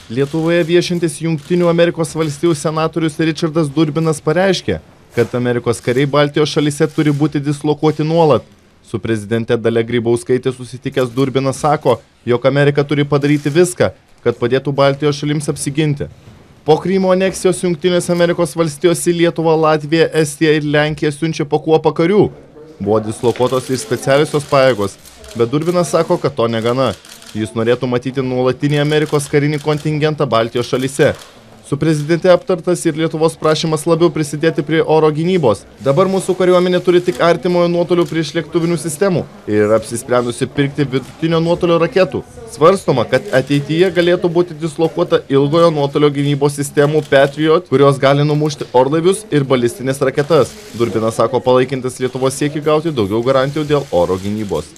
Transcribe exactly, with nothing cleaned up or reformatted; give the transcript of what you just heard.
Lietuvoje viešintis Jungtinių Amerikos valstijų senatorius Richardas Durbinas pareiškė, kad Amerikos kariai Baltijos šalyse turi būti dislokuoti nuolat. Su prezidente Dalia Grybauskaitė susitikęs Durbinas sako, jog Amerika turi padaryti viską, kad padėtų Baltijos šalims apsiginti. Po Krymo aneksijos Jungtinės Amerikos valstijos į Lietuvą, Latviją, Estiją ir Lenkiją siunčia po kuopą karių. Buvo dislokuotos ir specialiosios pajėgos, bet Durbinas sako, kad to negana. Jis norėtų matyti nuolatinį Amerikos karinį kontingentą Baltijos šalyse. Su prezidente aptartas ir Lietuvos prašymas labiau prisidėti prie oro gynybos. Dabar mūsų kariuomenė turi tik artimojo nuotolio priešlėktuvinių sistemų ir yra apsisprendusi pirkti vidutinio nuotolio raketų. Svarstoma, kad ateityje galėtų būti dislokuota ilgojo nuotolio gynybos sistemų Patriot, kurios gali numušti orlaivius ir balistinės raketas. Durbinas sako palaikintis Lietuvos siekį gauti daugiau garantijų dėl oro gynybos.